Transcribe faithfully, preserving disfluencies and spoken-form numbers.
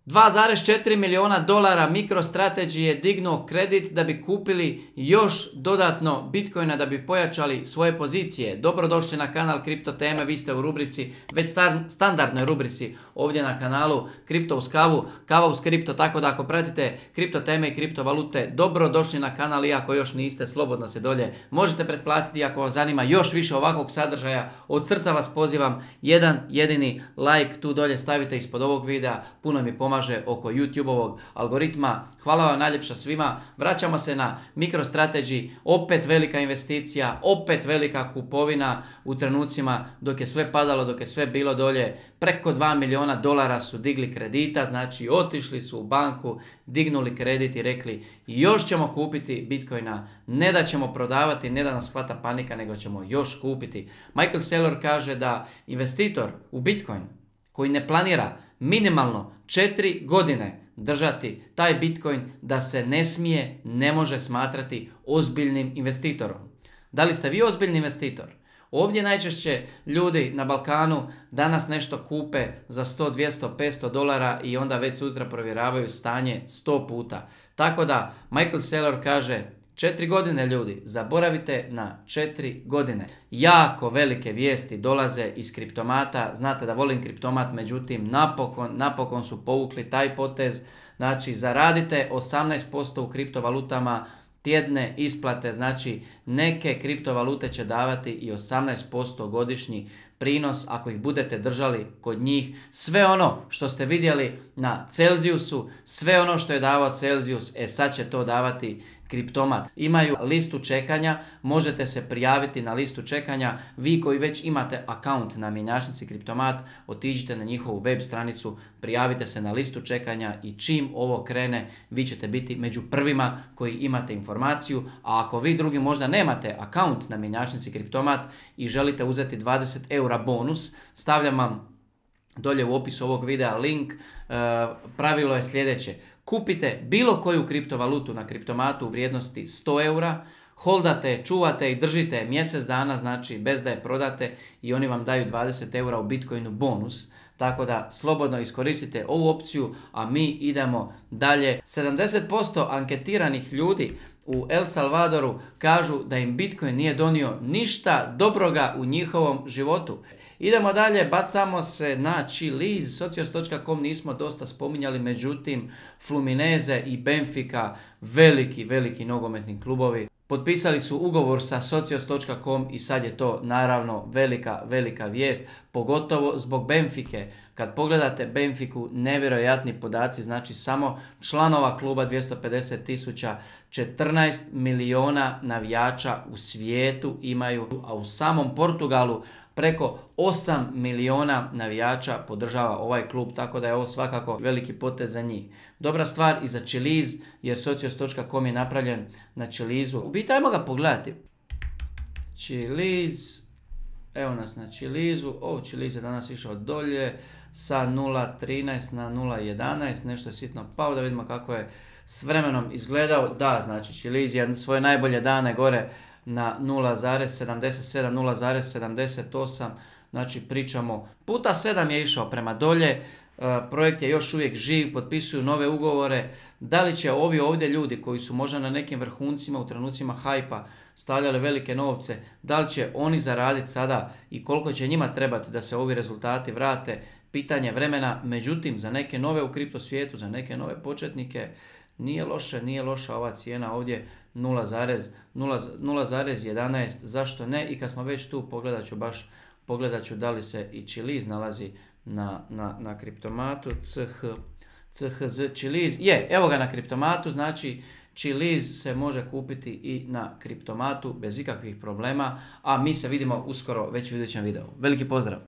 dva zarez četiri milijuna dolara MicroStrategy je dignuo kredit da bi kupili još dodatno Bitcoina, da bi pojačali svoje pozicije. Dobrodošli na kanal Kripto teme, vi ste u rubrici, već star, standardnoj rubrici ovdje na kanalu Kripto uz kavu, kava uz kripto, tako da ako pratite kripto teme i kriptovalute, dobrodošli na kanal, iako još niste, slobodno se dolje možete pretplatiti ako vas zanima još više ovakvog sadržaja. Od srca vas pozivam, jedan jedini like tu dolje stavite ispod ovog videa, puno mi pomaže oko YouTube-ovog algoritma. Hvala vam najljepša svima. Vraćamo se na MicroStrategy, opet velika investicija, opet velika kupovina u trenucima dok je sve padalo, dok je sve bilo dolje. Preko dva milijuna dolara su digli kredita, znači otišli su u banku, dignuli kredit i rekli još ćemo kupiti Bitcoina, ne da ćemo prodavati, ne da nas hvata panika, nego ćemo još kupiti. Michael Saylor kaže da investitor u Bitcoin koji ne planira minimalno četiri godine držati taj Bitcoin, da se ne smije, ne može smatrati ozbiljnim investitorom. Da li ste vi ozbiljni investitor? Ovdje najčešće ljudi na Balkanu danas nešto kupe za sto, dvjesto, petsto dolara i onda već sutra provjeravaju stanje sto puta. Tako da Michael Saylor kaže četiri godine ljudi, zaboravite na četiri godine. Jako velike vijesti dolaze iz kriptomata, znate da volim kriptomat, međutim napokon, napokon su povukli taj potez, znači zaradite osamnaest posto u kriptovalutama, tjedne isplate, znači neke kriptovalute će davati i osamnaest posto godišnji prinos ako ih budete držali kod njih. Sve ono što ste vidjeli na Celsiusu, sve ono što je davao Celsius, e sad će to davati kriptomat. Imaju listu čekanja, možete se prijaviti na listu čekanja. Vi koji već imate akaunt na mjenjačnici kriptomat, otiđite na njihovu web stranicu, prijavite se na listu čekanja i čim ovo krene, vi ćete biti među prvima koji imate informaciju. A ako vi drugi možda nemate akaunt na mjenjačnici kriptomat i želite uzeti dvadeset eura bonus, stavljam vam dolje u opisu ovog videa link. E, pravilo je sljedeće. Kupite bilo koju kriptovalutu na kriptomatu u vrijednosti sto eura, holdate, čuvate i držite mjesec dana, znači bez da je prodate, i oni vam daju dvadeset eura u Bitcoinu bonus. Tako da slobodno iskoristite ovu opciju, a mi idemo dalje. sedamdeset posto anketiranih ljudi u El Salvadoru kažu da im Bitcoin nije donio ništa dobroga u njihovom životu. Idemo dalje, bacamo se na Chiliz, socios točka com nismo dosta spominjali, međutim Fluminense i Benfica, veliki, veliki nogometni klubovi, potpisali su ugovor sa socios točka com i sad je to naravno velika, velika vijest, pogotovo zbog Benfike. Kad pogledate Benfiku, nevjerojatni podaci, znači samo članova kluba dvjesto pedeset tisuća, četrnaest milijuna navijača u svijetu imaju, a u samom Portugalu preko osam milijuna navijača podržava ovaj klub, tako da je ovo svakako veliki potez za njih. Dobra stvar i za Chiliz, jer socios točka com je napravljen na Chilizu. U biti, ajmo ga pogledati. Chiliz, evo nas na Chilizu. O, Chiliz je danas išao dolje sa nula trinaest na nula jedanaest, nešto je sitno pao, da vidimo kako je s vremenom izgledao. Da, znači Chiliz je svoje najbolje dane gore na nula zarez sedamdeset sedam, nula zarez sedamdeset osam, znači pričamo puta sedam je išao prema dolje. E, projekt je još uvijek živ, potpisuju nove ugovore. Da li će ovi ovdje ljudi koji su možda na nekim vrhuncima u trenucima hajpa stavljali velike novce, da li će oni zaraditi sada i koliko će njima trebati da se ovi rezultati vrate, pitanje vremena. Međutim, za neke nove u kripto svijetu, za neke nove početnike, nije loše, nije loša ova cijena ovdje nula zarez jedanaest, zašto ne? I kad smo već tu, pogledat ću baš, pogledat ću da li se i Chiliz nalazi na, na, na kriptomatu, C H, C H Z Chiliz, je, evo ga na kriptomatu, znači Chiliz se može kupiti i na kriptomatu bez ikakvih problema, a mi se vidimo uskoro već u idućem videu. Veliki pozdrav!